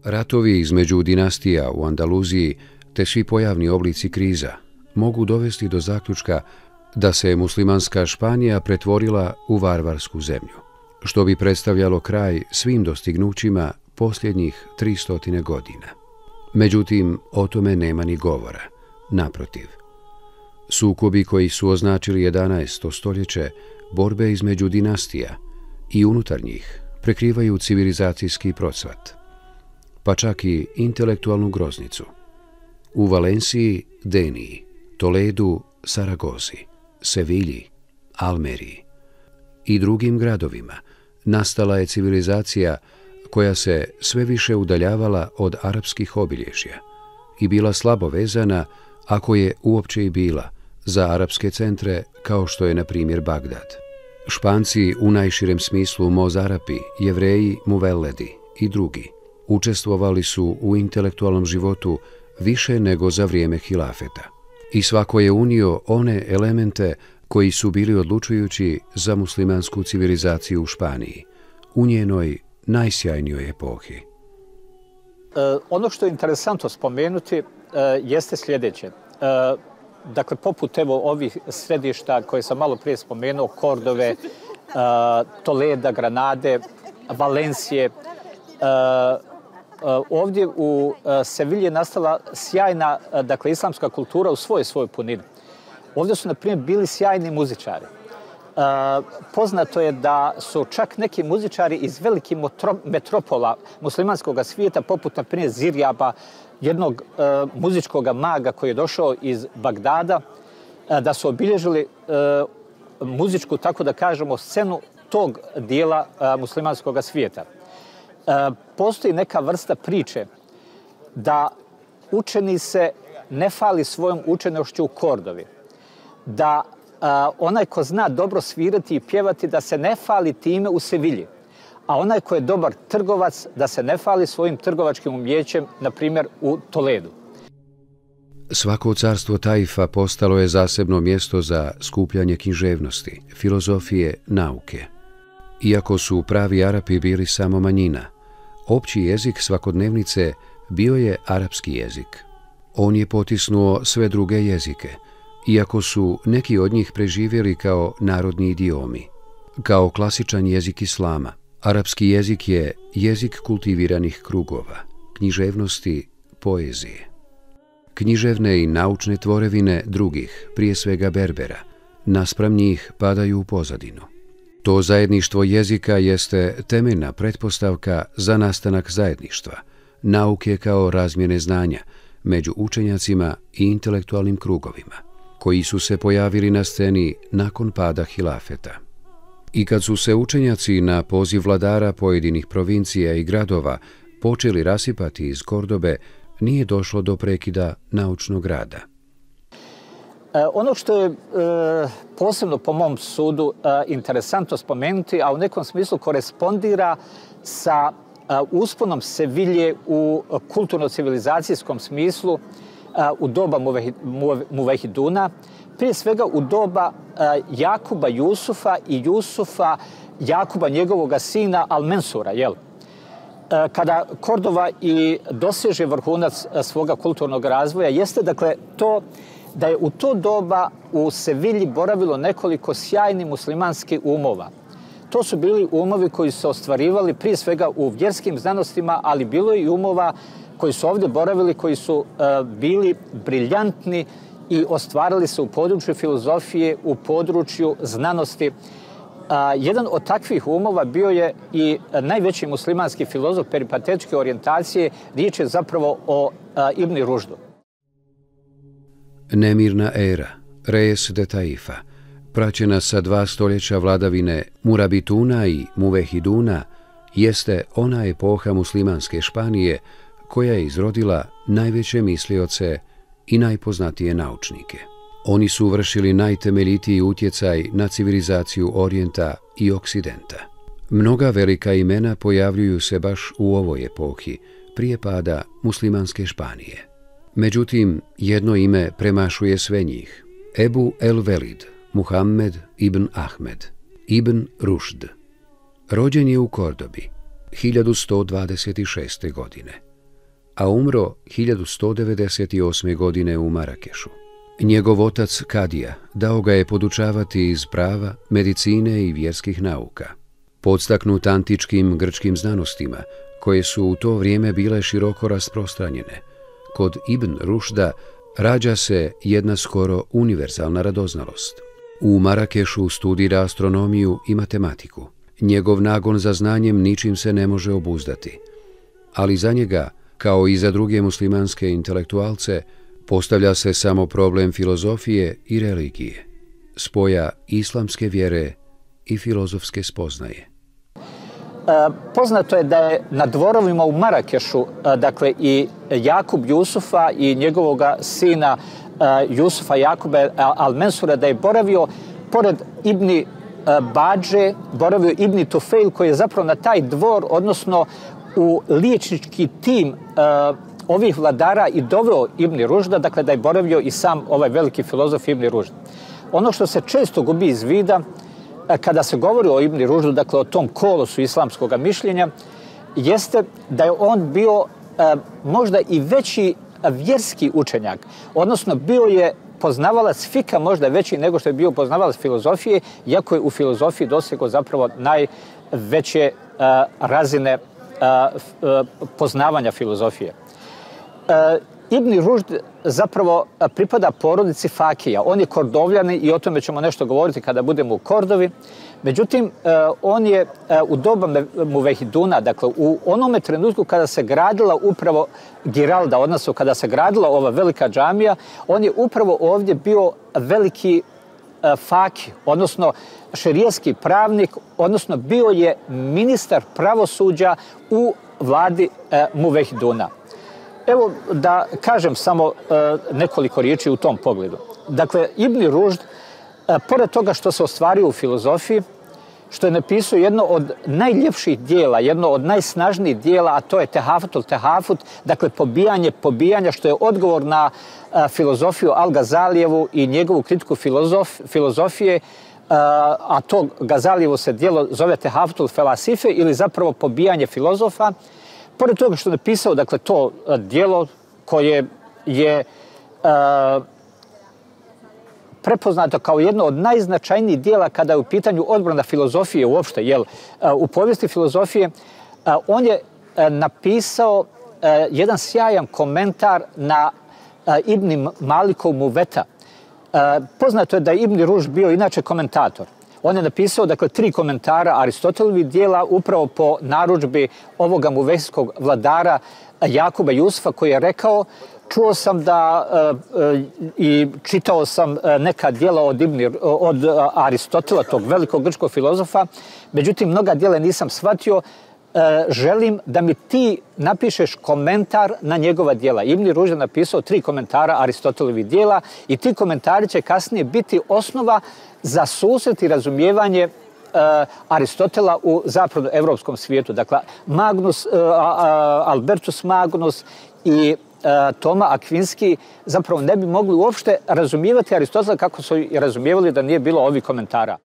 Ratovi između dinastija u Andaluziji te svi pojavni oblici kriza mogu dovesti do zaključka da se muslimanska Španija pretvorila u varvarsku zemlju, što bi predstavljalo kraj svim dostignućima posljednjih 300 godina. Međutim, o tome nema ni govora. Naprotiv, sukobi koji su označili 11. stoljeće, borbe između dinastija i unutar njih prekrivaju civilizacijski procvat, pa čak i intelektualnu groznicu. U Valenciji, Deniji, Toledu, Saragozi, Sevilji, Almeriji i drugim gradovima nastala je civilizacija koja se sve više udaljavala od arapskih obilježja i bila slabo vezana, ako je uopće i bila, za arapske centre kao što je na primjer Bagdad. Španci u najširem smislu Mozarapi, Jevreji, Muvelledi i drugi učestvovali su u intelektualnom životu više nego za vrijeme hilafeta. I svako je unio one elemente koji su bili odlučujući za muslimansku civilizaciju u Španiji, u njenoj najsjajnijoj epohi. Ono što je interesantno spomenuti jeste sljedeće. Dakle, poput ovih središta koje sam malo prije spomenuo, Kordove, Toleda, Granade, Valencije, ovdje u Sevilji je nastala sjajna, dakle, islamska kultura u svojoj punini. Ovdje su, na primjer, bili sjajni muzičari. Poznato je da su čak neki muzičari iz velikih metropola muslimanskog svijeta, poput, na primjer, Zirjaba, jednog muzičkog maga koji je došao iz Bagdada, da su obilježili muzičku, tako da kažemo, scenu tog dijela muslimanskog svijeta. Postoji neka vrsta priče da učeni se ne fali svojom učenošću u Kordovi, da onaj ko zna dobro svirati i pjevati da se ne fali time u Sevilji, a onaj ko je dobar trgovac da se ne fali svojim trgovačkim umjećem, na primjer u Toledu. Svako carstvo Taifa postalo je zasebno mjesto za skupljanje književnosti, filozofije, nauke. Iako su pravi Arapi bili samo manjina, opći jezik svakodnevnice bio je arapski jezik. On je potisnuo sve druge jezike, iako su neki od njih preživjeli kao narodni idiomi. Kao klasičan jezik islama, arapski jezik je jezik kultiviranih krugova, književnosti, poezije. Književne i naučne tvorevine drugih, prije svega Berbera, naspram njih padaju u pozadinu. To zajedništvo jezika jeste temeljna pretpostavka za nastanak zajedništva, nauke kao razmjene znanja među učenjacima i intelektualnim krugovima, koji su se pojavili na sceni nakon pada hilafeta. I kad su se učenjaci na poziv vladara pojedinih provincija i gradova počeli rasipati iz Kordobe, nije došlo do prekida naučnog rada. Ono što je posebno po mom sudu interesantno spomenuti, a u nekom smislu korespondira sa usponom Sevilje u kulturno-civilizacijskom smislu u doba Muvehiduna, prije svega u doba Jakuba Jusufa i Jusufa Jakuba, njegovog sina Al-Mensura, kada Kordova i doseže vrhunac svoga kulturnog razvoja, jeste dakle to da je u to doba u Sevilji boravilo nekoliko sjajnih muslimanskih umova. To su bili umovi koji su ostvarivali prije svega u vjerskim znanostima, ali bilo je i umova koji su ovdje boravili, koji su bili briljantni i ostvarili se u području filozofije, u području znanosti. Jedan od takvih umova bio je i najveći muslimanski filozof peripatetičke orijentacije, riječ je zapravo o Ibn Rušdu. Nemirna era, Reis de Taifa, praćena sa 2 stoljeća vladavine Murabituna i Muvehiduna, jeste ona epoha muslimanske Španije koja je izrodila najveće mislioce i najpoznatije naučnike. Oni su vršili najtemeljitiji utjecaj na civilizaciju Orijenta i Oksidenta. Mnoga velika imena pojavljuju se baš u ovoj epohi, prije pada muslimanske Španije. Međutim, jedno ime premašuje sve njih. Ebu el-Velid, Muhammed ibn Ahmed, ibn Rušd. Rođen je u Kordobi 1126. godine. a umro 1198. godine u Marakešu. Njegov otac Kadija dao ga je podučavati iz prava, medicine i vjerskih nauka. Podstaknut antičkim grčkim znanostima, koje su u to vrijeme bile široko rasprostranjene, kod Ibn Rušda rađa se jedna skoro univerzalna radoznalost. U Marakešu studira astronomiju i matematiku. Njegov nagon za znanjem ničim se ne može obuzdati. Ali za njega, kao i za druge muslimanske intelektualce, postavlja se samo problem filozofije i religije, spoja islamske vjere i filozofske spoznaje. Poznato je da je na dvorovima u Marakešu, dakle i Jakub Jusufa i njegovog sina Jusufa Jakube al-Mensura, da je boravio pored Ibni Badže, boravio Ibni Tufejl, koji je zapravo na taj dvor, odnosno u liječnički tim ovih vladara i doveo Ibn Rušda, dakle da je boravio i sam ovaj veliki filozof Ibn Rušd. Ono što se često gubi iz vida kada se govori o Ibn Rušdu, dakle o tom kolosu islamskog mišljenja, jeste da je on bio možda i veći vjerski učenjak, odnosno bio je poznavalac fika možda veći nego što je bio poznavalac filozofije, iako je u filozofiji dosegao zapravo najveće razine poznavanja filozofije. Ibn Rušd zapravo pripada porodici Fakija. On je Kordovljanin i o tome ćemo nešto govoriti kada budemo u Kordovi. Međutim, on je u doba Muvehiduna, dakle u onome trenutku kada se gradila upravo Giralda, odnosno kada se gradila ova velika džamija, on je upravo ovdje bio veliki Faki, odnosno šerijski pravnik, odnosno bio je ministar pravosuđa u vladi Muvehiduna. Evo da kažem samo nekoliko riječi u tom pogledu. Dakle, Ibn Rušd, pored toga što se ostvario u filozofiji, što je napisao jedno od najljepših dijela, jedno od najsnažnijih dijela, a to je Tehafutul Tehafut, dakle pobijanja, što je odgovor na filozofiju Al-Gazalijevu i njegovu kritiku filozofije, a to Gazalijevo se dijelo zove Tehafutul Felasife ili zapravo pobijanje filozofa. Pored toga što je napisao, dakle, to dijelo koje je prepoznato kao jedno od najznačajnijih dijela kada je u pitanju odbrana filozofije uopšte, jer u povijesti filozofije on je napisao jedan sjajan komentar na Ibn Malikov Muveta. Poznato je da je Ibn Rušd bio inače komentator. On je napisao, dakle, 3 komentara Aristotelovih dijela upravo po narudžbi ovoga muvejskog vladara Jakuba Jusufa, koji je rekao: čuo sam da i čitao sam neka dijela od Aristotela, tog velikog grčkog filozofa, međutim mnoga dijela nisam shvatio, želim da mi ti napišeš komentar na njegova dijela. Ibn Rušd je napisao 3 komentara Aristotelovih dijela i ti komentari će kasnije biti osnova za susret i razumijevanje Aristotela u zapadnoevropskom svijetu. Dakle, Albertus Magnus i Toma Akvinski zapravo ne bi mogli uopšte razumijevati Aristotela kako su i razumijevali da nije bilo ovih komentara.